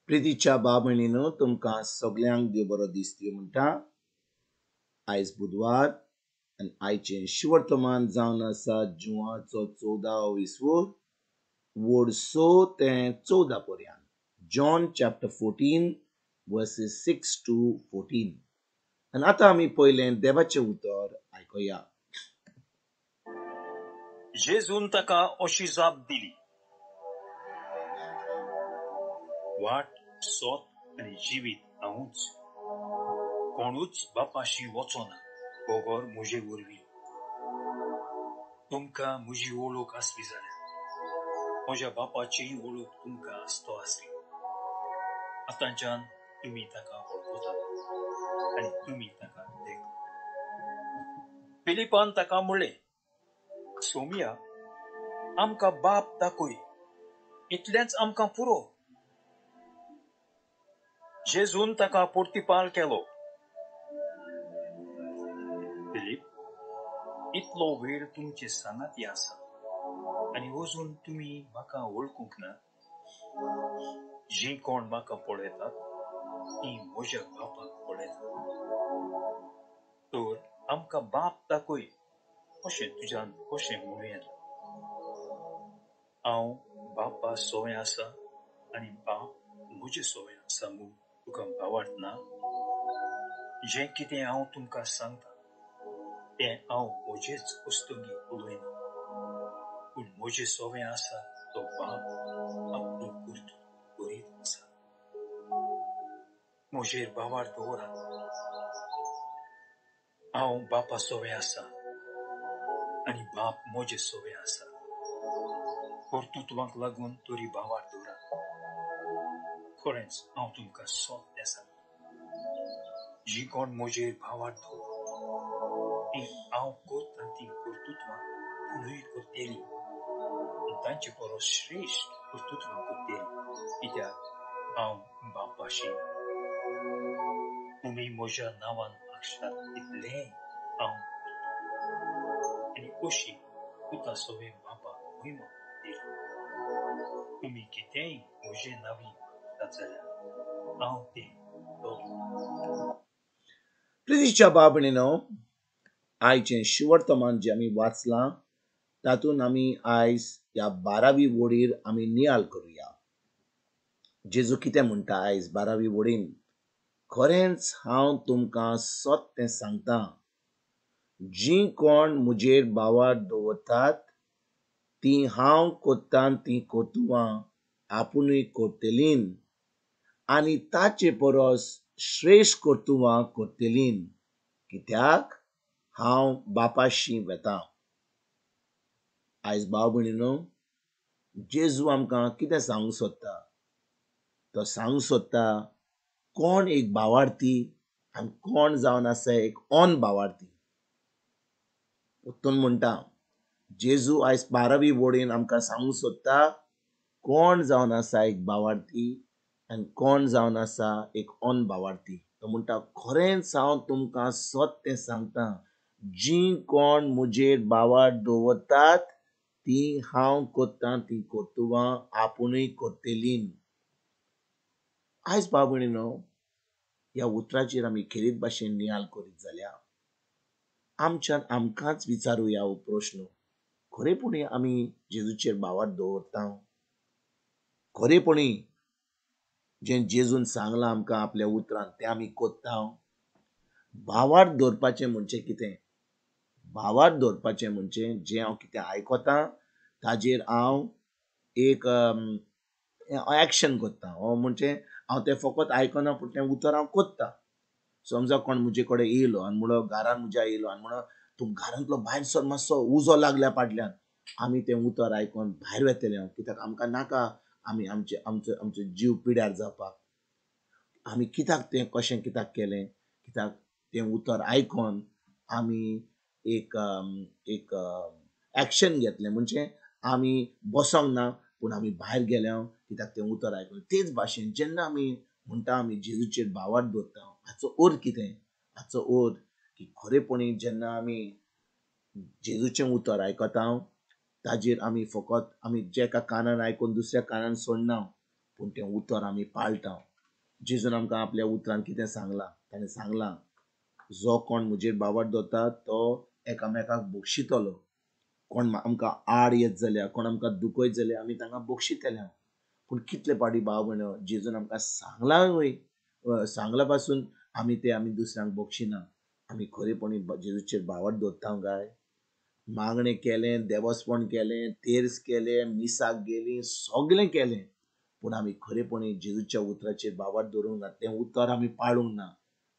प्रितीच्या भाव भयणीनो, तुमकां सगल्यांक देव बरो दीस दिवं म्हणटा. आयज बुधवार आनी आयचें शिवर्तमान जावन आसा जुवाचो 14 विसवूर वोड 6 ते 14 पर्यंत. John chapter 14 verses 6 to 14. आनी आतां आमी पयलें देवाचें उतर आयकुया. जेजून ताका अशी जाप दिली, वाट, सोत आनी जिवीत हांवूच. कोणूच बापाशी वचना बगर म्हजे वरवीं. तुमकां म्हजी वळख आसली जाल्यार म्हज्या बापाचीय वळख तुमकां आसतो आसली. आतांच्यान तुमी ताका वळखतात आनी तुमी ताका देखतात. फिलिपान ताका म्हणलें, सोमिया, आमकां बाप दाखय, इतलेंच आमकां पुरो. जेजून ताका प्रतिपाल केलो, फिलीप, इतलो वेळ तुमचे सांगाती आसा आनी अजून तुमी म्हाका वळखूंक ना. जीं कोण म्हाका पळयतात तीं म्हज्या बापाक पळयतात. तर आमकां बाप दाखय अशें तुज्यान कशें म्हणूं येता? हांव बापा सोवें आसा आनी बाप म्हजे सोवें आसा म्हूण तुका भावार्थ ना? जें कितें हांव तुमकां सांगता तें हांव म्हजेच वस्तुंगी उलयना, पूण म्हजे सोवें आसा तो बाप आपलो कर्तृत्व करीत आसा. म्हजेर भावार्थ दवरात, हांव बापा सोवें आसा आनी बाप म्हजे सोवें आसा. कर्तृत्वाक लागून तरी भावार्थ दवरात. खरेंच हांव तुमकां सत्य सांगता, जीं कोण म्हजेर भावार्थ दवरत तीं हांव करता तीं कर्तृत्वां पुणूय करतलीं, तांचे परस श्रेश्ठ कर्तृत्वां करतलीं, कित्याक हांव बापाशी. तुमी म्हज्या नांवान मागशात तितलेंय हांव करतां, आनी अशी पुता सोवें बापाक महिमा दिली. तुमी कितेंय म्हजे नांवी मागशात जाल्यार हांव तें करतलों. प्रितीच्या भाव भयणीनो, आयचें शिवर्तमान जें आमी वाचलां तातूंत आमी आयज ह्या 12वी वडीर आमी नियाळ करुया. जेजू कितें म्हणटा आयज 12वी वडीन? खरेंच हांव तुमकां सत्य सांगता, जीं कोण म्हजेर भावार्थ दवरतात तीं हांव करता तीं कर्तुवां आपुणूय करतलीं आनी ताचे परस श्रेश्ठ कर्तुवां करतलीं, कित्याक हांव बापाशी वेता. आयज भाव भयणीनो, जेजू आमकां कितें सांगूंक सोदता? तो सांगूंक सोदता कोण एक भावार्थी आनी कोण जावन आसा एक ऑन भावार्थी. परतून म्हणटा, जेजू आयज 12वी वडीन आमकां सांगूंक सोदता कोण जावन आसा एक भावार्थी आनी कोण जावन आसा एक ऑन भावार्थी. तो म्हणटा, खरेंच हांव तुमकां सत्य सांगता, जीं कोण म्हजेर भावार्थ दवरतात तीं हांव करता तीं कर्तुवां आपुणूय करतलीं. आयज भाव भयणीनो, ह्या उतराचेर आमी खेरीत भाशेन नियाळ करीत जाल्यार आमच्यान आमकांच विचारुया हो प्रश्न, खरेपणी आमी जेजूचेर भावार्थ दवरता? खरेपणी जें जेजून सांगलां आमकां आपल्या उतरान तें आमी करता? भावार्थ दवरपाचें म्हणजे कितें? भावार्थ दवरपाचें म्हणजे जें हांव कितें आयकता ताजेर हांव एक एक्शन करता. हो म्हणजे हांव तें फकत आयकना पूण तें उतर हांव करता. समजा कोण म्हजे कडेन येयलो आनी म्हणलो, घरान म्हज्या येयलो आनी म्हणलो, तूं घरांतलो भायर सर, मातसो उजो लागल्या फाटल्यान. आमी तें उतर आयकून भायर वेतले हांव, कित्याक आमकां नाका आमी आमचे आमचो आमचो जीव पिड्यार जावपाक. आमी कित्याक तें कशें कित्याक केलें? कित्याक तें उतर आयकून आमी एक एक एक्शन घेतलें, म्हणजे आमी बसोंक ना पूण आमी भायर गेले कित्याक तें उतर आयकून. तेच भाशेन जेन्ना आमी म्हणटा आमी जेजूचेर भावार्थ दवरता, हाचो अर्थ कितें? हाचो अर्थ की खरेपणी जेन्ना आमी जेजूचें उतर आयकता ताजेर आमी फकत आमी जे एका कानान आयकून दुसऱ्या कानान सोडना, पूण तें उतर आमी पाळटा. जेजून आमकां आपल्या उतरान कितें सांगलां? ताणें सांगलां, जो कोण म्हजेर बावट दवरता तो एकामेकाक बक्षितलो. कोण आमकां आड येत जाल्यार, कोण आमकां दुखयत जाल्यार आमी तांकां बक्षितले. पूण कितले पाटी भाव भयणो जेजून आमकां सांगलां वय, सांगलां पासून आमी ते आमी दुसऱ्यांक बक्षिना. आमी खरेपणी जेजूचेर बावट दवरता काय? मागणें केलें, देवस्पण केलें, तेर्स केलें, मिसाक गेलीं, सगळें केलें, पूण आमी खरेपणी जेजूच्या उतराचेर बावट दवरूंक ना. तें उतर आमी पाळूंक ना.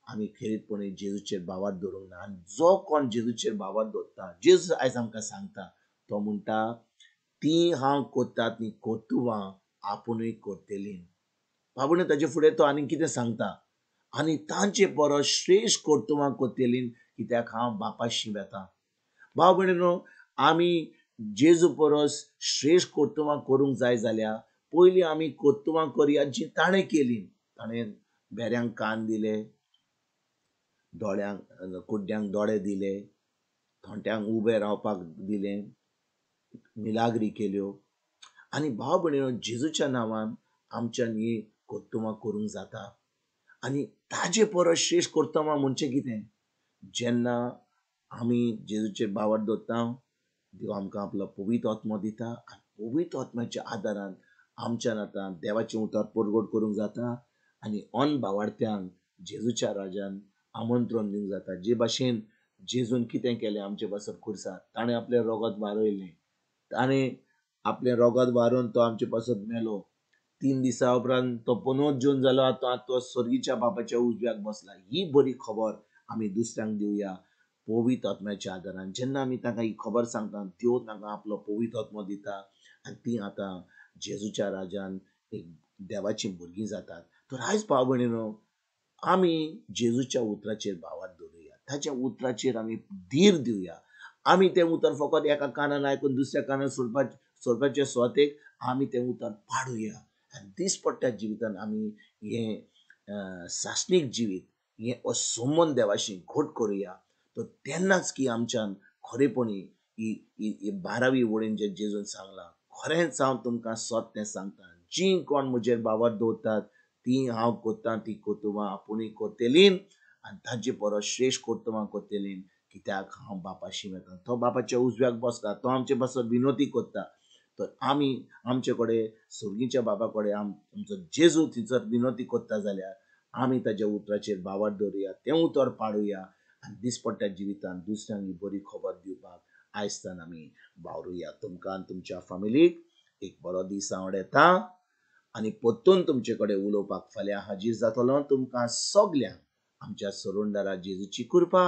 आमी खेरीतपणी जेजूचेर बावट दवरूंक ना. आनी जो कोण जेजूचेर बावट दवरता, जेजू आयज आमकां सांगता, तो म्हणटा ती हांव कोत्ता ती कोतुवां आपुणूय करतली. बाबून ताजे फुडें तो आनी कितें सांगता? आनी तांचे परस श्रेश्ठ कर्तुवां करतली, कित्याक हांव बापाशी वेता. भाव भयणीनो, आमी जेजू परस श्रेश्ठ कर्तुवां करूंक जाय जाल्यार पयलीं आमी कर्तुवां करया जीं ताणें केलीं. ताणें बेऱ्यांक कान दिले, दोळ्यांक कुड्ड्यांक दोळे दिले, थोंट्यांक उबे रावपाक दिलें, मिलाग्री केल्यो. आनी भाव भयणीनो, जेजूच्या नांवान आमच्यान ही कर्तुवां करूंक जाता. आनी ताजे परस श्रेश्ठ कर्तुवां म्हणचें कितें? जेन्ना आमी जेजूचेर बावट दवरता, देव आमकां आपलो पवित्र आत्मो दिता आनी पवित्र आत्म्याच्या आदारान आमच्यान आतां देवाचें उतर परगट करूंक जाता आनी अनभावार्थ्यांक जेजूच्या राजान आमंत्रण दिवंक जाता. जे भाशेन जेजून कितें केलें आमचे पासत खुर्सार, ताणें आपलें रोगत वारयलें, ताणें आपलें रोगत वारोवन तो आमचे पासत मेलो. 3 दिसां उपरांत तो पुनर्जीवन जालो, आतां तो स्वर्गीच्या बापाच्या उजव्याक बसला. ही बरी खबर आमी दुसऱ्यांक दिवया पवित्र आत्म्याच्या आदारान. जेन्ना आमी तांकां ही खबर सांगता, देव तांकां आपलो पवित्र आत्मो दिता आनी ती आतां जेजूच्या राजान एक देवाचीं भुरगीं जातात. तर आयज भाव भयणीनो, आमी जेजूच्या उतराचेर भावार्थ दवरुया, ताच्या उतराचेर आमी धीर दिवया. आमी तें उतर फकत एका कानान आयकून दुसऱ्या कानान सोडपाचे सुवातेक आमी तें उतर पाडुया आनी दिसपट्ट्या जिवितान आमी हें सासणीक जिवीत, हें असंबंद देवाशी घट करुया. तर तेन्नाच की आमच्यान खरेपणी ही 12वी वळीन जें जेजून सांगलां, खरेंच हांव तुमकां सत तें सांगता, जीं कोण म्हजेर बावट दवरतात ती हांव कोत्ता ती कोतुवां आपुणूय करतलीं आनी तांचे परस श्रेश्ठ कर्तुवां करतलीं, कित्याक हांव बापाशी वेता. तो बापाच्या उजव्याक बसता, तो आमचे पासत विनोती करता. तर आमी आमचे कडेन स्वर्गीच्या बाबा कडेन आमचो जेजू थंयसर विनोती करता जाल्यार आमी ताज्या उतराचेर बावट दवरुया, तें उतर पाडुया आनी दिसपट्ट्या जिवितांत दुसऱ्यांक ही बरी खबर दिवपाक आयजतान आमी वावरुया. तुमकां आनी तुमच्या फामिलीक एक बरो दीस आवडटा आनी परतून तुमचे कडेन उलोवपाक फाल्यां हाजीर जातलो. तुमकां सगल्यांक आमच्या सरुंदारा जेजूची कृपा,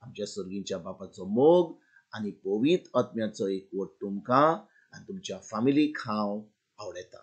आमच्या सर्गीच्या बापाचो मोग आनी पवित्र आत्म्याचो एकवट तुमकां आनी तुमच्या फामिलीक हांव आवडटा.